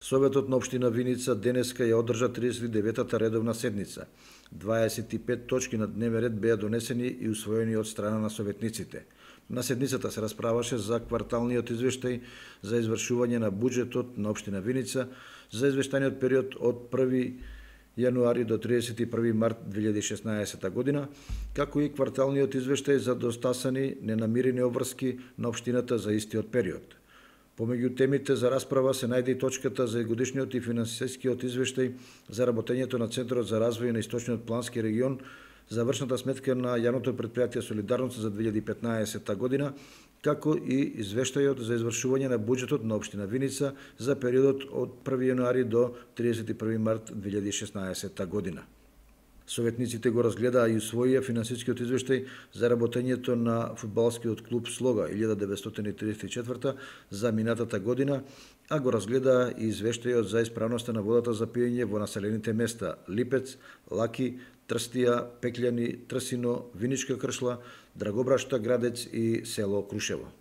Советот на општина Виница денеска ја одржа 39-та редовна седница. 25 точки на дневен ред беа донесени и усвоени од страна на советниците. На седницата се расправаше за кварталниот извештај за извршување на буџетот на општина Виница за извештајниот период од 1 јануари до 31 март 2016 година, како и кварталниот извештај за достасани ненамирени обврски на општината за истиот период. Помеѓу темите за расправа се најде и точката за годишниот и финансискиот извештај за работењето на Центарот за развој на Источниот плански регион, завршната сметка на јавното претпријатие Солидарност за 2015 година, како и извештајот за извршување на буџетот на општина Виница за периодот од 1 јануари до 31 март 2016 година. Советниците го разгледаа и усвоија финансискиот извештај за работењето на фудбалскиот клуб Слога 1934 за минатата година, а го разгледаа и извештајот за исправноста на водата за пиење во населените места Липец, Лаки, Трстија, Пеклјани, Трсино, Виничка Кршла, Драгобрашта, Градец и село Крушево.